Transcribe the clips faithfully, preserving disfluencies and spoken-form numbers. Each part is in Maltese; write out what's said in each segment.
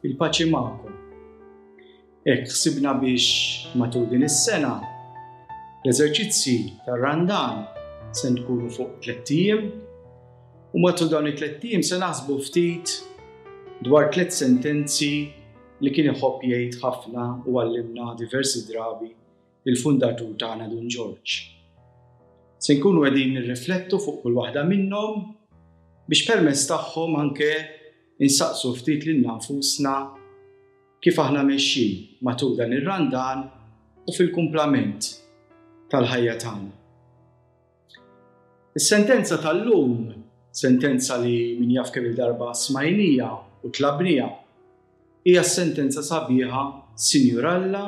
Il-paċi magħkom. Hekk ħsibna biex matul din is-sena l-eżerċizzi tar-Randan se nkunu fuq tlett ijiem u matul dawn it-tlett ijiem se naħsbu ftit dwar tliet sentenzi li kien iħobb jgħid ħafna u għallimna diversi drabi il-fundatur tagħna Dun Ġorġ. Se nkunu qegħdin nirriflettu fuq kull waħda minnhom biex permezz tagħhom anke insaqsu ftit lilna nfusna kif aħna mexjin matul dan ir-Randan u fil-kumplament tal-ħajja tagħna. Is-sentenza tal-lum, sentenza li min jaf kemm il-darba smajnija u tlabnija, hija s-sentenza sabiħa Sinjur Alla,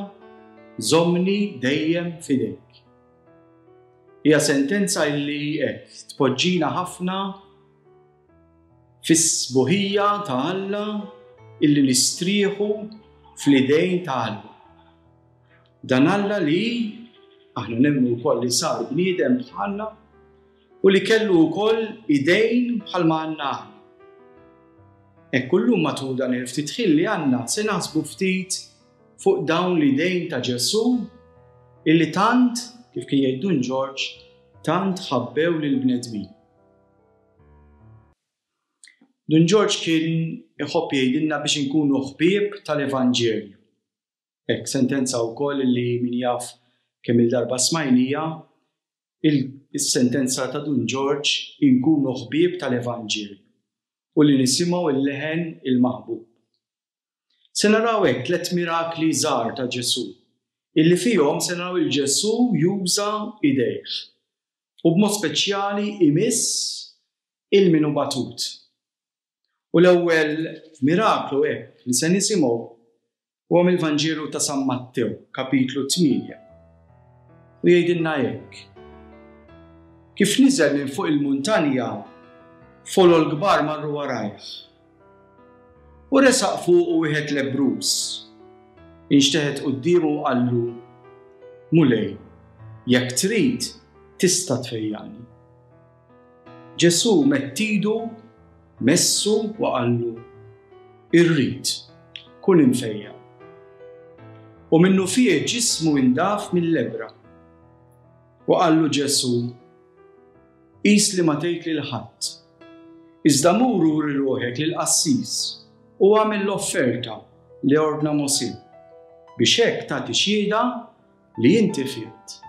żommni dejjem f'idejk. Hija sentenza li hekk tpoġġina ħafna fis-sbuħija ta' Alla illi nistrieħu fl-idejn ta' Alla. Dan Alla li aħna nemmnu wkoll li sar bniedem bħalna u li kellu wkoll idejn bħalma għandna aħna. Hekk kullum matul dan il-ftit ħin li għandna se naħsbu ftit fuq dawn l-idejn ta' Ġesù illi tant, kif kien jgħid Dun Ġorġ, tant ħabbew lill-bnedmin. Dun Ġorġ kien iħobb jgħidilna biex inkunu ħbieb tal-Evanġelju. Hekk sentenza wkoll li min jaf kemm il-darba smajnija, il-sentenza ta' Dun Ġorġ inkunu ħbieb tal-Evanġelju u li nisimgħu il-leħen il-maħbub. Se naraw hekk tliet mirakli żgħar ta' Ġesù, illi fihom se naraw il-Ġesù juża idejh u b'mod speċjali imiss il-minu batut. U l-ewwel miraklu hekk li se nisimgħu huwa mill-Vanġelu ta' San Mattew, kapitlu tmienja. U jgħidilna hekk. Kif niżel minn fuq il-muntanja, folol kbar marru warajh. U resaq fuqu wieħed lebbruż. Inxteħet quddiemu u qallu, Mulej, jekk trid, tista' tfejjaqni. Ġesù medd idu, messu u qallu, Irrid, kun imfejjaq. U minnu fih ġismu indaf mill-lebbra. U qallu Ġesù, Qis li ma tgħid lil ħadd. Iżda mur uri ruħek lill-qassis u agħmel l-offerta li ordna Mosè, biex hekk tagħti xhieda li inti fiqt.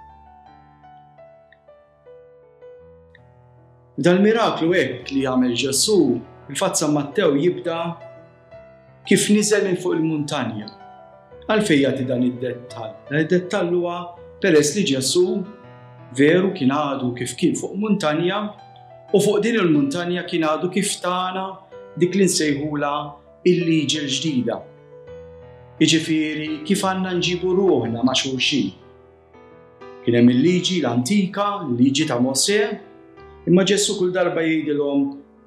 Dal-miraklu hekk li jagħmel Ġesù, il-fatt San Mattew jibda kif niżel minn fuq il-muntanja. Għalfejn jagħti dan id-dettall? Dan id-dettall huwa peress li Ġesù veru kien għadu kif kien fuq muntanja u fuq din il-muntanja kien għadu kif tana dik li nsejħula il-liġi l-ġdida. Jiġifieri kif għandna nġibu ruħna ma' xulxin. Kien hemm il-liġi l-antika, il-liġi ta' Mosè, imma Ġesù kull darba jgħidilhom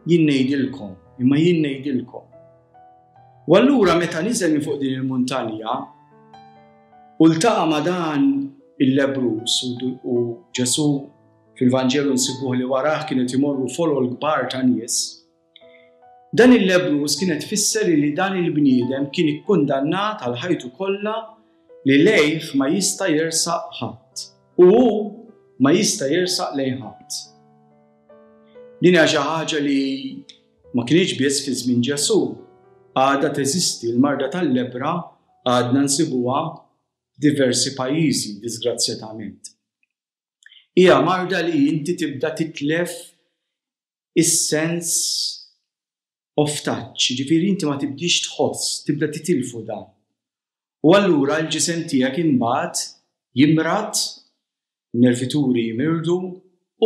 jien ngħidilkom, imma jien ngħidilkom. U allura meta niżel minn fuq din il-muntanja u ltaqa' ma' dan il-lebbruż u Ġesù fil-Vanġelu nsibuh li warah kienet imorru folol kbar ta' nies, dan il-lebbruż kienet tfisser li dan il-bniedem kien ikkundannat għal ħajtu kollha li lejh ma jista' jersaq ħadd u hu ma jista' jersaq lejn ħadd. Din hija xi ħaġa li ma kienx biss fi żmien Ġesù, għadha teżisti l-marda tal-lebbra għadna nsibuha f'diversi pajjiżi, disgrazzjatament. Hija marda li inti tibda titlef is-sens of touch, ġifieri inti ma tibdix tħoss, tibda titilfu dan. U allura l-ġisem tiegħek imbagħad jimrad, nervituri jimirdu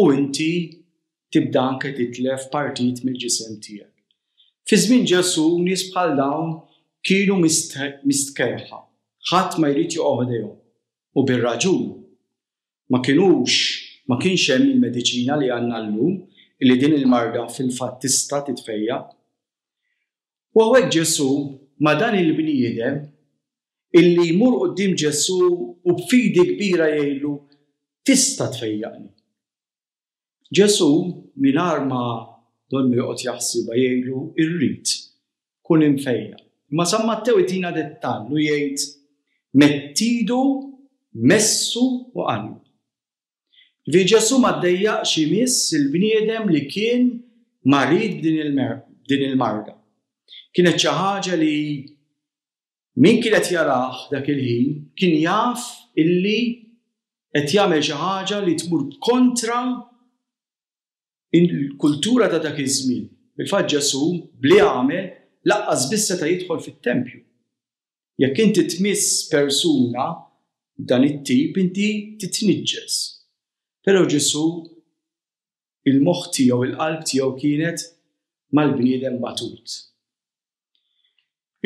u inti tibda anke titlef partit mill-ġisem tiegħek. Fi żmien Ġesù nies bħal dawn kienu mistkerrħa, ħadd ma jrid joqgħod ħdejhom. U bir-raġun. Ma kinux, ma kienx hemm il-mediċina li għandna llum li din il-marda fil-fatt tista' titfejjaq. U hawnhekk Ġesù ma' dan il-bniedem illi jmur quddiem Ġesù u b'fidi kbira jgħidlu tista' tfejjaqni. Ġesù mingħajr ma donnu joqgħod jaħsibha jgħidlu irrid kun imfejjaq. Imma San Mattew itina dettall u jgħid medd idu, messu u qallu. Ġifieri Ġesù ma ddejjaqx imiss il-bniedem li kien marid b'din il-marda. Kienet xi ħaġa li min kien qed jarah dak il-ħin kien jaf illi qed jagħmel xi ħaġa li tmur kontra il-kultura ta' dak iż-żmien. Fil-fatt Ġesù bli għamel laqqas biss seta' jidħol fit-tempju. Jekk inti tmiss persuna dan it-tip inti titniġġes. Però Ġesù il-moħħ tiegħu, il-qalb tiegħu kienet mal-bniedem batut.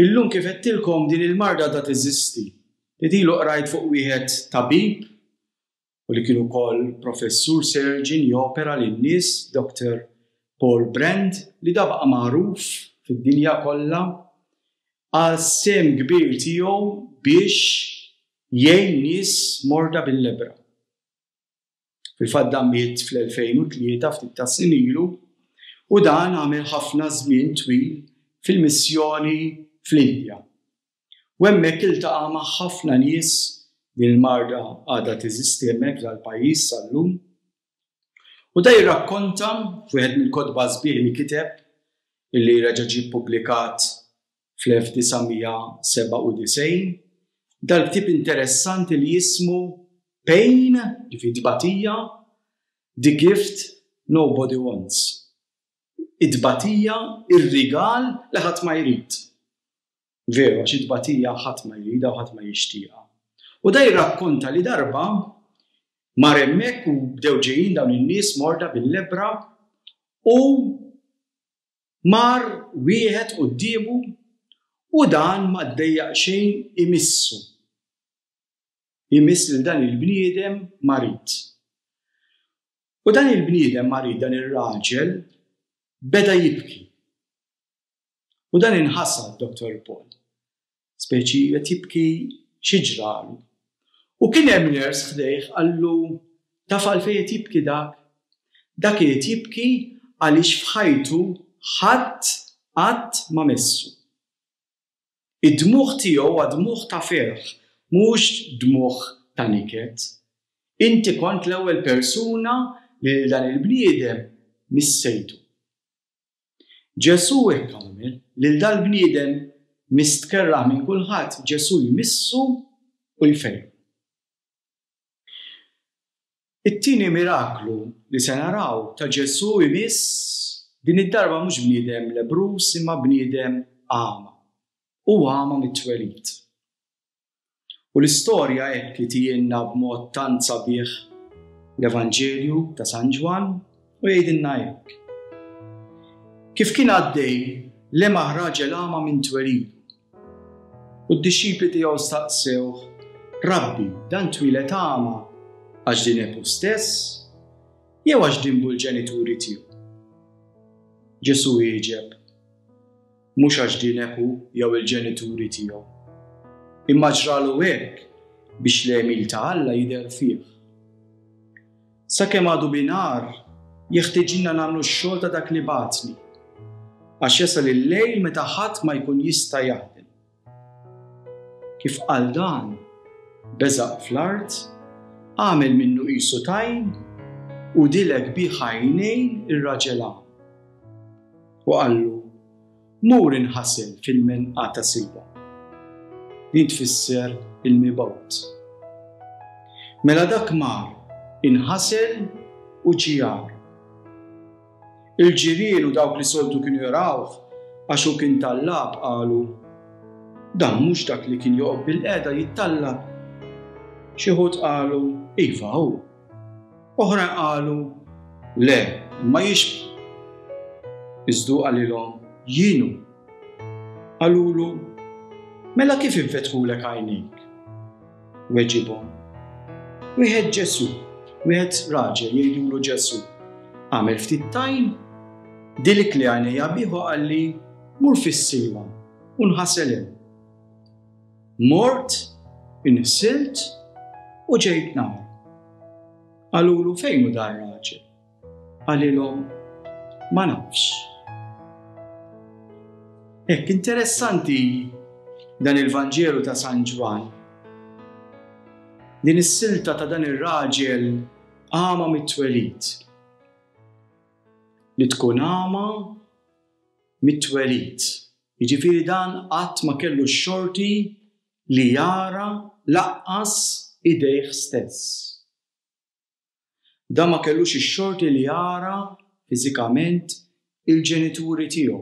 Illum kif għedtilkom din il-marda da teżisti. Ilu qrajt fuq wieħed tabib u li kien ukoll professur surgeon jopera lin-nies, Doctor Paul Brand, li da baqa' magħruf fid-dinja kollha għal sehem kbir tiegħu biex jgħin nies morda bil-lebra. Fil-fatt dan miet fl-elfejn u tlieta ftit ta' snin ilu u dan għamel ħafna żmien twil fil-missjoni fl-Indja. U hemmhekk iltaqa' ma' ħafna nies, din il-marda għadha teżisti hemmhekk f'dal-pajjiż sal-lum. U da jirrakkonta f'wieħed mill-kotba sbieħ li kiteb illi reġa' ġie ppubblikat fl-elf disa' mija sebgħa u disgħin, dal-ktieb interessanti li jismu Pain, ġifieri tbatija, The Gift Nobody Wants. It-tbatija, ir-rigal li ħadd ma jrid. Veru, għax it-tbatija ħadd ma jridha u ħadd ma jixtieqha. U da jirrakkonta li darba mar hemmhekk u bdew ġejjin dawn in-nies morda bil-lebra u mar wieħed quddiemu u dan ma ddejjaq xejn imissu. Imiss lil dan il-bniedem marid. U dan il-bniedem marid, dan ir-raġel, beda jibki. U dan inħasad Doctor Paul. Speċi qed jibki xi ġralu. U kien hemm nurse ħdejh qallu taf għalfejn qed jibki dak? Dak qed jibki għaliex f'ħajtu ħadd qatt ma messu. Id-dmugħ tiegħu huwa dmugħ ta' ferħ, mhux dmugħ ta' niket. Inti kont l-ewwel persuna li lil dan il-bniedem missejtu. Ġesù hekk għamel, lil dal-bniedem mistkerraħ minn kulħadd, Ġesù jmissu u jfejqu. It-tieni miraklu li se naraw ta' Ġesù jmiss din id-darba mhux bniedem lebrus imma bniedem għama. U għama mit-twelid. U l-istorja hekk itielna b'mod tant sabiħ l-Evanġelju ta' San Ġwann u jgħidilna hekk. Kif kien għaddej lemaħ raġel għama minn twelidu. U d-dixxipli tiegħu staqsewh, Rabbi, dan twieled għama għax dineb hu stess jew għax dinbu l-ġenituri tiegħu? Ġesù wieġeb, mhux għax dineb hu jew il-ġenituri tiegħu, imma ġralu hekk biex l-għemil ta' Alla jidher fih. Sakemm għadu binhar, jeħtieġilna nagħmlu x-xogħol ta' dak li bagħatni, għax jasal il-lejl meta ħadd ma jkun jista' jaħdem. Kif qal dan, beżaq fl-art, għamel minnu qisu tajn u dilek bih għajnejn ir-raġel għama. U qallu, mur inħasel fil-menqa ta' Silwa. Din tfisser il-mibgħut. Mela dak mar, inħasel u ġie jara. Il-ġirien u dawk li soltu kienu jarawh għax hu kien tallab qalu, dan mhux dak li kien joqgħod bil-qeda jittallab. Xi wħud qalu, iva hu. Oħrajn qalu, le, Imma jixbħu. Iżda hu qalilhom, Jien hu. Qalulu, Mela kif infetħulek għajnejk? Weġibhom, Wieħed Ġesù, wieħed raġel jgħidulu Ġesù, għamel ftit tajn, dilikli għajnejja bih u qalli, mur fis-Silwam u nħasel hemm. Mort, inħsilt u ġejt nara. Qalulu fejn hu dan raġel? Qalilhom, ma nafx. Hekk interessanti dan il-Vanġelu ta' San Ġwann. Din is-silta ta' dan ir-raġel għama mit-twelid. Li tkun għama mit-twelid. Jiġifieri dan qatt ma kellu x-xorti li jara lanqas idejh stess. Dan ma kellux ix-xorti li jara fiżikament il-ġenituri tiegħu.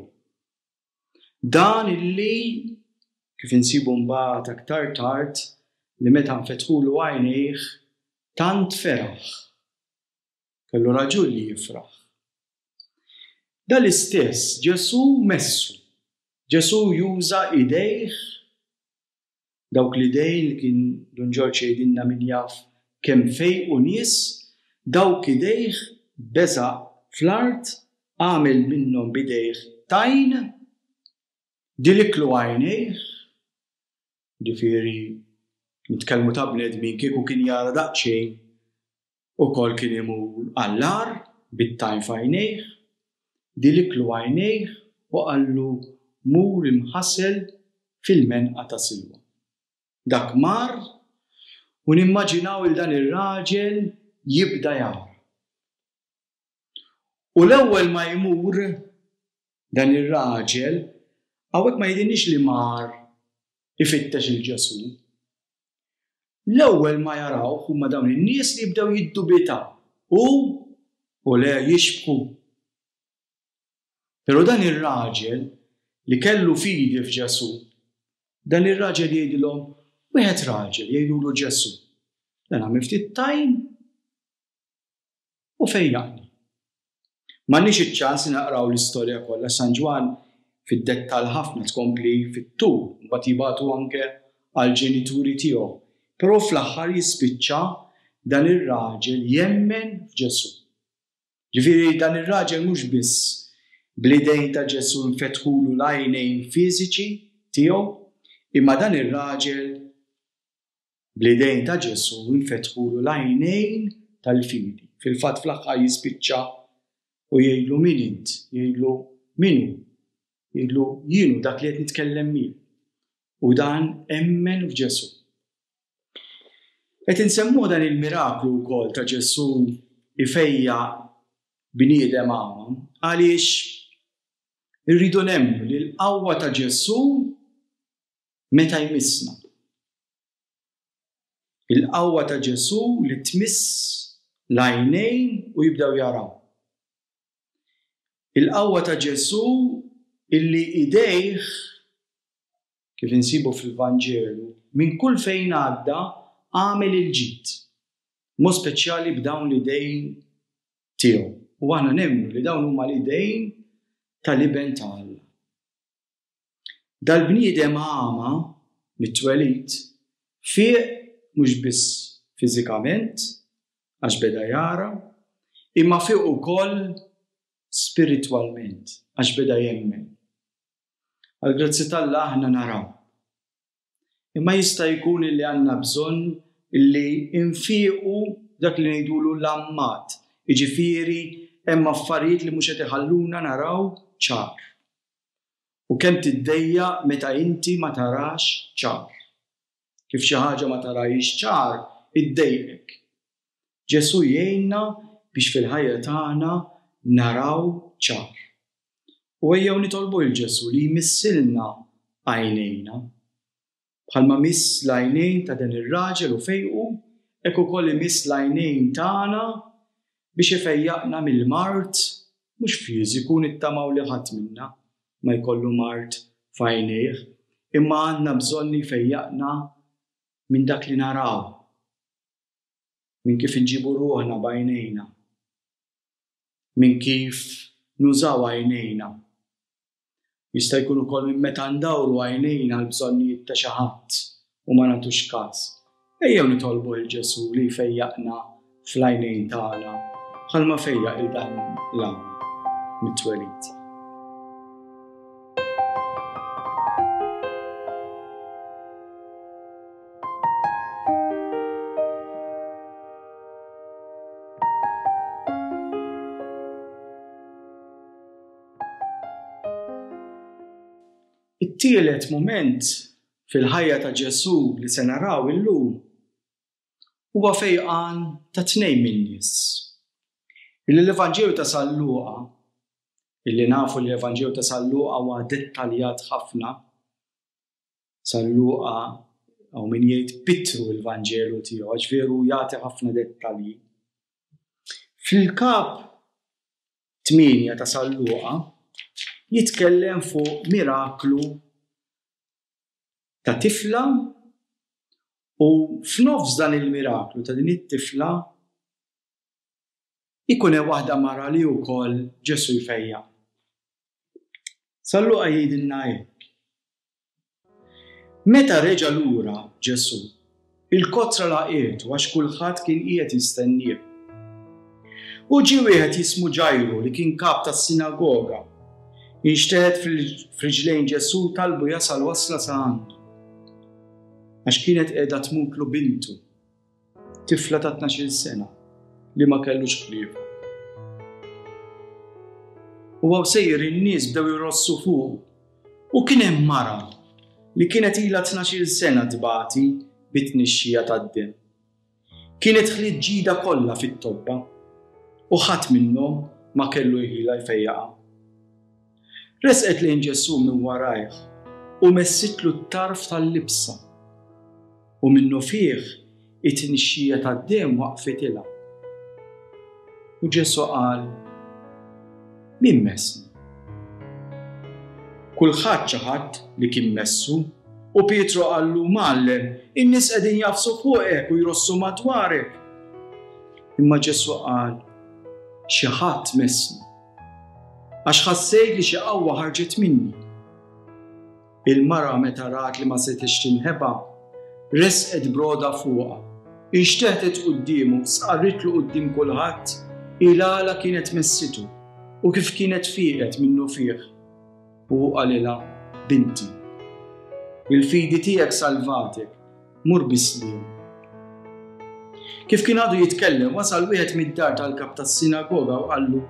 Dan illi kif insibu mbagħad aktar tard li meta nfetħulu għajnejh tant feraħ. Kellu raġun li jifraħ. Dan l-istess Ġesù messu. Ġesù juża idejh dawk l-idejn li kien Dun Ġorġ jgħidilna min jaf kemm fejqu nies, dawk idejh beżaq fl-art, għamel minnhom b'idejh tajn, diliklu għajnejh, ġifieri nitkellmu ta' bnedmin kieku kien jara daqsxejn ukoll kien imur għall-agħar bit-tajn f'għajnejh, diliklu għajnejh u qallu mur imħasel fil-menqa ta' Silwa. Dak mar u nimmaġinaw il dan ir-raġel jibda jara. U l-ewwel ma jmur dan ir-raġel, hawnhekk ma jgħidilniex li mar ifittex il Ġesù. L-ewwel ma jarawh huma dawn in-nies li jibdew jiddubitaw u u le jixbħu. Però dan ir-raġel li kellu fidi f'Ġesù, dan ir-raġel jgħidilhom wieħed raġel jgħidulu Ġesù. Dan għamel ftit tajn u fejjaqni. M'għandniex iċ-ċans li naqraw l-istorja kollha, San Ġwann fid-dettall ħafna tkompli fit-tul, mbagħad jibagħtu anke għall-ġenituri tiegħu. Però fl-aħħar jispiċċa dan ir-raġel jemmen f'Ġesù. Ġifieri dan ir-raġel mhux biss bl-idejn ta' Ġesù nfetħulu l-għajnejn fiżiċi tiegħu, imma dan ir-raġel bl-idejn ta' Ġesù nfetħulu l-għajnejn tal-fidi. Fil-fatt fl-aħħar jispiċċa u jgħidlu min int, jgħidlu min hu, jgħidlu jien hu dak li qed nitkellem miegħu. U dan emmen f'Ġesù. Qed insemmu dan il-miraklu wkoll ta' Ġesù ifejjaq bniedem għama għaliex irridu nemmnu li l-qawwa ta' Ġesù meta jmissna. Il-qawwa ta' Ġesù li tmiss l-għajnejn u jibdew jaraw. Il-qawwa ta' Ġesù illi idejh, kif insibu fil-Vanġelu, minn kull fejn għadda għamel il-ġid. Mod speċjali b'dawn l-idejn tiegħu. U aħna nemmnu li dawn huma l-idejn tal-Iben ta' Alla. Dal-bniedem għama mit-twelid fieq mhux biss fiżikament għax beda jara, imma fieq ukoll spiritwalment għax beda jemmen. Għall-grazzja t'Alla aħna naraw. Imma jista' jkun illi għandna bżonn illi nfiequ dak li ngħidulu l-ammat, jiġifieri hemm affarijiet li mhux qed iħalluna naraw ċar. U kemm tiddejjaq meta inti ma tarax ċar. Kif xi ħaġa ma tarahiex ċar, iddejqek. Ġesù jgħinna biex fil-ħajja tagħna naraw ċar. U ejjew nitolbu lil Ġesù li jmissilna għajnejna. Bħalma miss l-għajnejn ta' dan ir-raġel u fejqu, hekk ukoll imiss l-għajnejn tagħna biex ifejjaqna mill-mard mhux fiżiku, nittamaw li ħadd minna ma jkollu mard f'għajnejh, imma għandna bżonn li jfejjaqna minn dak li naraw, minn kif inġibu ruħna b'għajnejna, Minn kif nużaw għajnejna. Jista' jkun ukoll minn meta ndawru għajnejna l-bżonnijiet ta' xi ħadd u ma nagħtux każ. Ejjew nitolbu lil Ġesù li jfejjaqna fl-għajnejn tagħna bħalma fejjaq il dan l-għama mit-twelid. It-tielet mument fil-ħajja ta' Ġesù li se naraw illum huwa fejqan ta' tnejn min-nies. Illi l-Evanġelju ta' San Luqa, illi nafu li l-Evanġelju ta' San Luqa huwa dettaljat ħafna, San Luqa hawn min jgħid pittru l-Vanġelu tiegħu għax veru jagħti ħafna dettalji. Fil-kap tmienja ta' San Luqa jitkellem fuq miraklu ta' tifla u f'nofs dan il-miraklu ta' din it-tifla ikun hemm waħda mara li wkoll Ġesù jfejjaq. San Luqa jgħidilna hekk. Meta reġa' lura Ġesù, il-kotra laqietu għax kulħadd kien qiegħed jistennieh. U ġie wieħed jismu Ġajru li kien kap tas-sinagoga. Inxteħet f'riġlejn Ġesù talbu jasal wasla sa għandu. Għax kienet qiegħda tmutlu bintu, tifla ta' tnax-il sena, li ma kellux ħlief. U għaw sejjer in-nies bdew jrossu fuq. U kien hemm mara li kienet ilha tnax-il sena tbati bit-tnixxija tad-demm. Kienet ħliet ġida kollha fit-tobba u ħadd minnhom ma kellu jħila jfejjaqha. Resqet lejn Ġesù minn warajh u messitlu t-tarf tal-libsa. U minnu fih it-tnixxija tad-demm waqfitilha. U Ġesù qal, min messni? Kulħadd ċaħad li kien messu, u Pietru qallu, Mgħallem, in-nies qegħdin jafsu fuqek u jrossu madwarek. Imma Ġesù qal, xi ħadd messni, għax ħassejt li xi qawwa ħarġet minni. Il-mara meta rat li ma setgħetx tinħeba, resqet broda fuqha, inxteħtet quddiemu, sqarritlu quddiem kulħadd il-għala kienet messitu u kif kienet fieqet minnu fih. U qalilha, binti, il-fidi tiegħek salvatek, mur bisliem. Kif kien għadu jitkellem, wasal wieħed mid-dar tal-kap tas-sinagoga u qallu,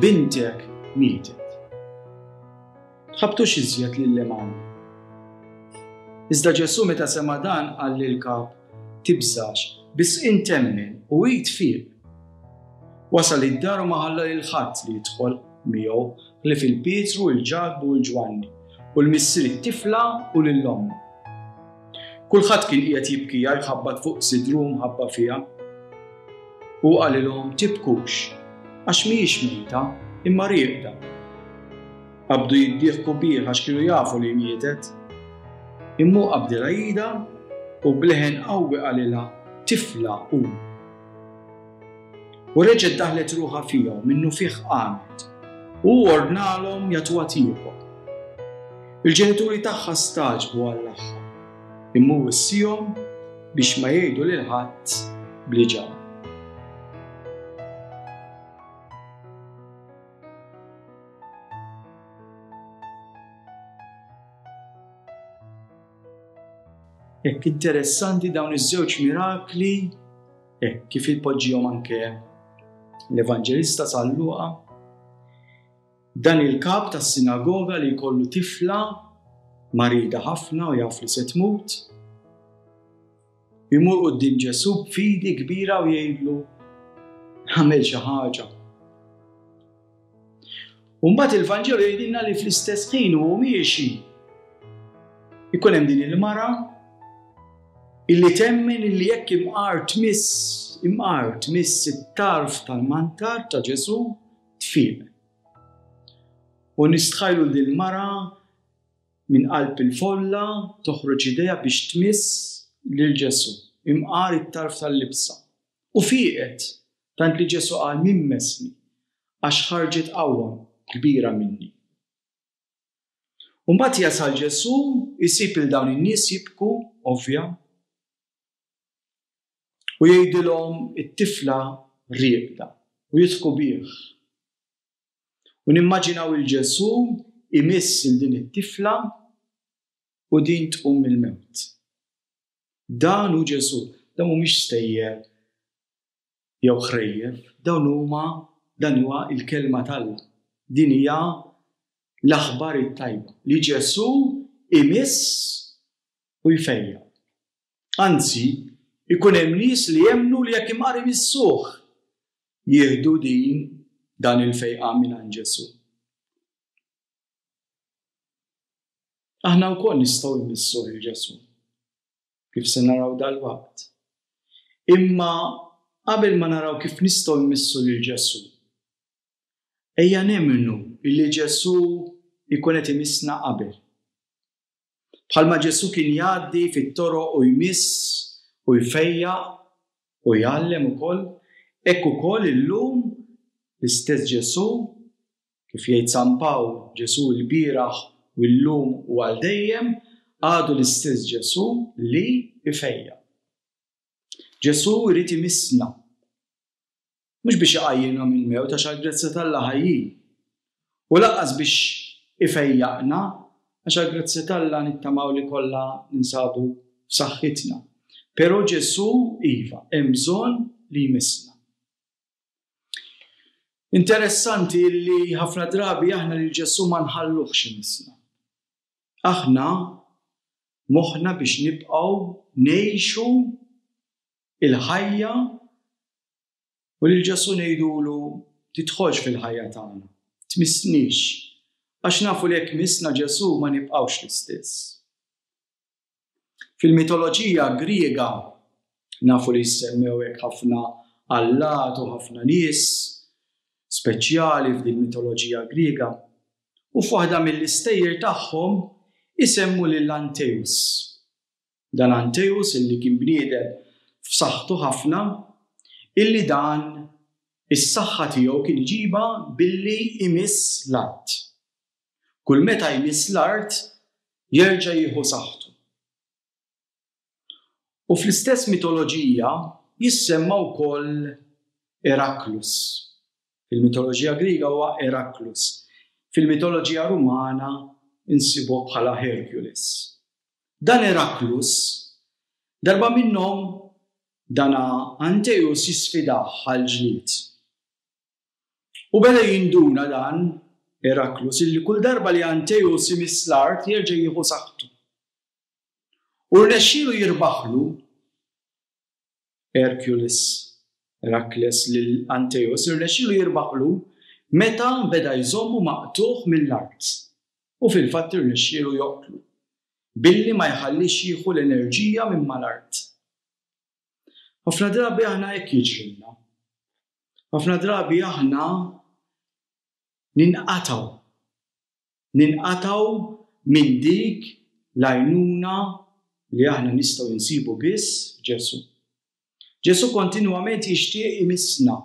bintek mietet. Tħabtux iżjed lil-Imgħallem. Iżda Ġesù meta sema' dan qal lill-kap, tibżax, biss int emmen u hi tfiq. Wasal id-dar u ma ħalla lil ħadd li jidħol miegħu ħlief il-Pietru, il-Ġakbu u l-Ġwanni, u l-missier it-tifla u lil ommha. Kulħadd kien qiegħed jibkija jħabbat fuq sidru mħabba fiha. U qalilhom, tibkux, għax mhijiex mejta, imma rieqda. Qabdu jiddieħku bih għax kienu jafu li mietet. Imma hu qabdilha idha u b'leħen qawwi qalilha, tifla qum. U reġgħet daħlet ruħha fiha u minnu fih qamet, u hu ordnalhom jagħtuha tiekol. Il-ġenituri tagħha stagħġbu għall-aħħar, imma hu wissihom biex ma jgħidu lil ħadd bli ġara. Hekk interessanti dawn iż-żewġ mirakli, hekk kif ipoġġihom anke l-Evanġelista San Luqa. Dan il-kap tas-sinagoga li jkollu tifla marida ħafna u jaf li se tmut, imur quddiem Ġesù b'fidi kbira u jgħidlu, għamel xi ħaġa. U mbagħad il-Vanġelu jgħidilna li fl-istess ħin hu miexi ikun hemm din il-mara illi temmen illi jekk imqar tmiss, imqar tmiss it-tarf tal-mantar ta' Ġesù tfiq. U nistħajlu din il-mara minn qalb il-folla toħroġ idejha biex tmiss lil Ġesù, imqar it-tarf tal-libsa. U fieqet, tant li Ġesù qal min messni, għax ħarġet qawwa kbira minni. U mbagħad jasal Ġesù jsib il dawn in-nies jibku, ovvja, u jgħidilhom it-tifla rieqda u jidħku bih. U nimmaġinaw il Ġesù imiss il din it-tifla u din tqum mill-mewt. Dan hu Ġesù, dan mhumiex stejjer jew ħrejjef, dawn huma dan huwa l-kelma t'Alla. Din hija l-aħbar it-tajba li Ġesù imiss u jfejjaq. Anzi, ikun hemm nies li jemmnu li jekk imqar imissuh jieħdu din dan il-fejqan mingħand Ġesù. Aħna wkoll nistgħu nmissuh il Ġesù, kif se naraw dalwaqt. Imma qabel ma naraw kif nistgħu nmissu lil Ġesù, ejja nemmnu illi Ġesù jkun qed imissna qabel. Bħalma Ġesù kien jgħaddi fit-toroq u jmiss u jfejjaq u jgħallem ukoll, hekk ukoll illum l-istess Ġesù, kif jgħid San Pawl, Ġesù l-bieraħ u llum u għal dejjem, għadu l-istess Ġesù li jfejjaq. Ġesù jrid imissna. Mhux biex iqajjimna mill-mewt għax għall-grazzja t'Alla ħajjin. U lanqas biex ifejjaqna għax għall-grazzja t'Alla nittamaw li kollha ninsabu f'saħħitna. Però Ġesù iva, hemm bżonn li jmissna. Interessanti li ħafna drabi aħna lil Ġesù ma nħalluhx imissna. Aħna moħħna biex nibqgħu ngħixu il-ħajja u lil Ġesù ngħidulu tidħolx fil-ħajja tagħna, tmissnix, għax nafu li jekk missna Ġesù ma nibqgħux l-istess. Fil-mitoloġija Griega nafu li jissemmew hekk ħafna allat u ħafna nies speċjali f'din mitoloġija Griega, u f'waħda mill-istejjer tagħhom isemmu lil Anteus. Dan Anteus illi kien bniedem f'saħħtu ħafna, illi dan is-saħħa tiegħu kien iġibha billi imiss l-art. Kull meta jmiss l-art jerġa' jieħu saħħtu. U fl-istess mitoloġija jissemma wkoll Eraklus. Fil-mitoloġija Griega huwa Eraklus. Fil-mitoloġija Rumana insibuh bħala Hercules. Dan Eraklus, darba minnhom dana Anteus jisfidah għal ġlied. U beda jinduna dan Eraklus illi kull darba li Anteus imiss l-art jerġa' jieħu saħħtu. U rnexxielu jirbaħlu Hercules, Herakles lil Anteus, irnexxielu jirbaħlu meta beda jżommu maqtugħ mill-art. U fil-fatt irnexxielu joqtlu billi ma jħallix jieħu l-enerġija minn mal-art. Ħafna drabi aħna hekk jiġrilna. Ħafna drabi aħna ninqatgħu. Ninqatgħu minn dik l-għajnuna li aħna nistgħu nsibu biss Ġesù. Ġesù kontinwament jixtieq imissna.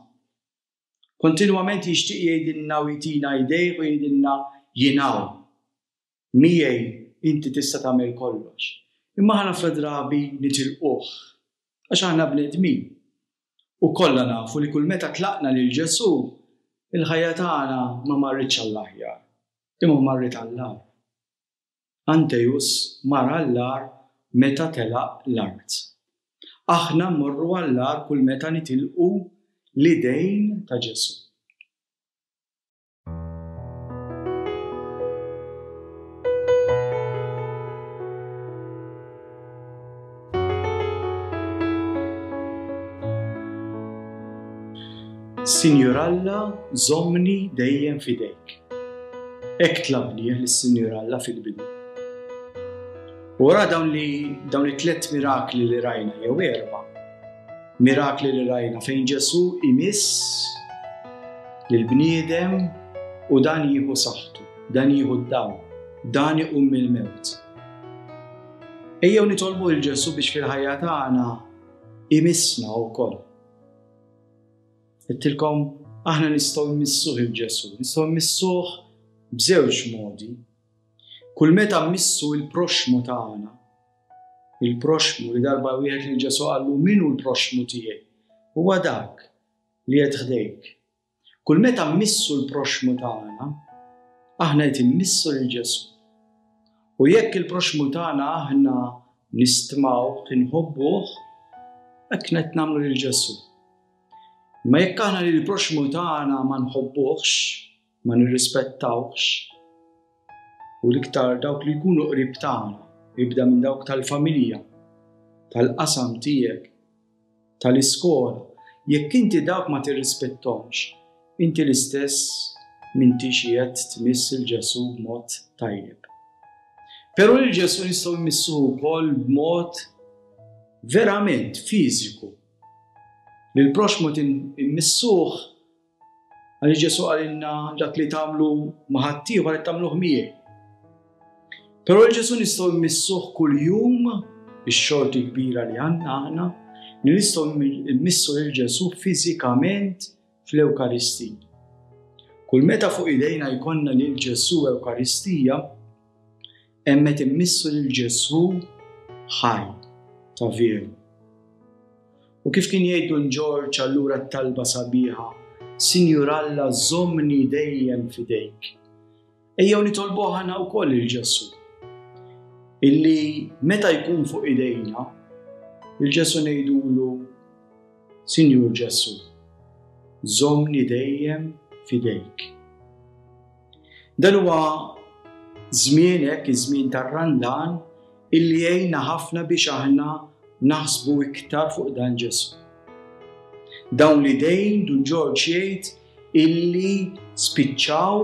Kontinwament jixtieq jgħidilna u jtina jdejh u jgħidilna jien hawn. Miegħi inti tista' tagħmel kollox. Imma aħna ħafna drabi nitilquh għax aħna bnedmin. U kollha nafu li kull meta tlaqna lil Ġesù, il-ħajja tagħna ma marritx għall-aħjar, imma marret għall-agħar. Anteus mar għall-agħar meta telaq l-art. Aħna mmorru għall-agħar kull meta nitilqu l-idejn ta' Ġesù. Sinjur Alla, żommni dejjem f'idejk. Hekk tlabnieh lis-Sinjur Alla fil-bidu. U wara dawn li dawn it-tliet mirakli li rajna, jew erba' mirakli li rajna fejn Ġesù imiss lill-bniedem u dan jieħu saħħtu, dan jieħu d-dawl, dan iqum mill-mewt. Ejjew nitolbu lil Ġesù biex fil-ħajja tagħna imissna wkoll. Għedtilkom Aħna nistgħu mmissuh 'il Ġesù, nistgħu mmissuh b'żewġ modi. Kull meta mmissu il-proxmu tagħna, il-proxmu li darba wieħed lil Ġesù qallu min hu l-proxmu tiegħi? Huwa dak li qed ħdejk. Kull meta mmissu l-proxmu tagħna, aħna qed immissu lil Ġesù. U jekk il-proxmu tagħna aħna nistmawh, inħobbuh, hekk qed nagħmlu lil Ġesù. Ma jekk aħna lil proxmu tagħna ma nħobbuhx, ma nirrispettawhx, u l-iktar dawk li jkunu qrib tagħna, ibda minn dawk tal-familja, tal-qasam tiegħek, tal-iskola, jekk inti dawk ma tirrispettomx, inti l-istess m'intix qiegħed tmiss 'il Ġesù b'mod tajjeb. Però lil Ġesù nistgħu mmissuh ukoll b'mod verament fiżiku. Lil proxmu immissuh għaliex Ġesù qalilna dak li tagħmlu ma' ħaddieħor qed tagħmluh miegħi. Però lil Ġesù nistgħu mmissuh kuljum, ix-xorti kbira li għandna aħna, li nistgħu mmissu lil Ġesù fiżikament fl-Ewkaristija. Kull meta fuq idejna jkollna lil Ġesù Ewkaristija, hemm qed immissu lil Ġesù ħaj ta' veru. U kif kien jgħid Dun Ġorġ allura t-talba sabiħa, Sinjur Alla żommni dejjem f'idejk. Ejjew nitolbuh aħna wkoll lil Ġesù. Illi meta jkun fuq idejna, lil Ġesù ngħidulu, Sinjur Ġesù, żommni dejjem f'idejk. Dan huwa żmien hekk, iż-żmien tar-Randan, illi jgħinna ħafna biex aħna naħsbu iktar fuq dan Ġesù. Dawn l-idejn Dun Ġorġ jgħid illi spiċċaw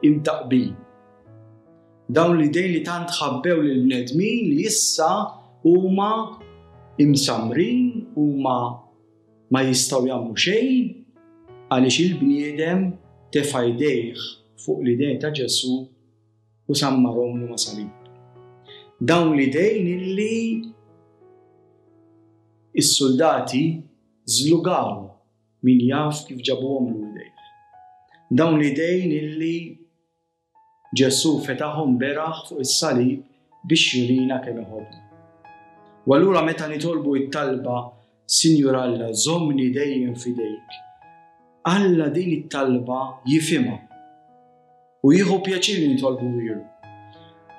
imtaqbin. Dawn l-idejn li tant ħabbew lill-bnedmin li issa huma imsamrin, huma ma jistgħu jagħmlu xejn għaliex il-bniedem tefa' jdejh fuq l-idejn ta' Ġesù u sammarhomlu ma' salib. Dawn l-idejn illi is-soldati żlugaw min jaf kif ġabuhom l-idejn. Dawn l-idejn illi Ġesù fetaħhom beraħ fuq is-salib biex jurina kemm iħobbna. U allura meta nitolbu it-talba Sinjur Alla, żommni dejjem f'idejk, Alla din it-talba jifhimha u jieħu pjaċir li nitolbu ilu.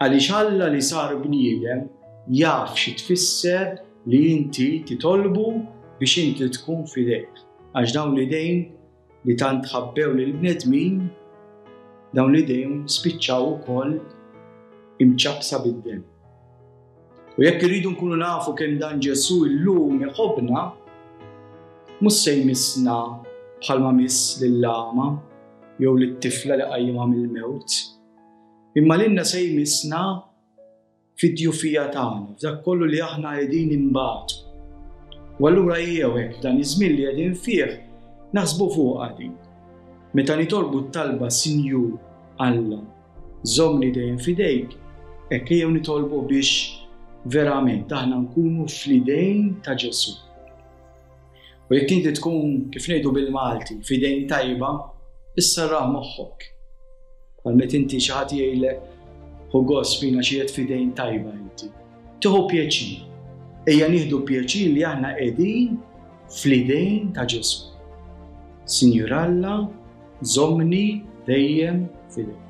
Għaliex Alla li sar bniedem jaf xi tfisser li inti titolbu biex inti tkun f'idejk. Għax dawn l-idejn li tant ħabbew lill-bnedmin, dawn l-idejn spiċċaw ukoll imċappsa bid-demm. U jekk irridu nkunu nafu kemm dan Ġesù llum iħobbna, mhux se jmissna bħalma miss lill-għama jew lit-tifla li qajjimha mill-mewt, imma lilna se jmissna fid-djufija tagħna, f'dak kollu li aħna qegħdin imbagħtu. U allura ejjew hekk f'dan iż-żmien li qegħdin fih naħsbu fuqha din. Meta nitolbu t-talba Sinjur Alla, żommni dejjem f'idejk, hekk ejjew nitolbu biex verament aħna nkunu fl-idejn ta' Ġesù. U jekk inti tkun, kif ngħidu bil-Malti, f'idejn tajba, isserraħ moħħok. Bħal meta inti xi ħadd jgħidlek ħu gost fina xi qed f'idejn tajba inti. Tieħu pjaċir. Ejja nieħdu pjaċir li aħna qegħdin fl-idejn ta' Ġesù. Sinjur Alla, żommni dejjem f'idejk.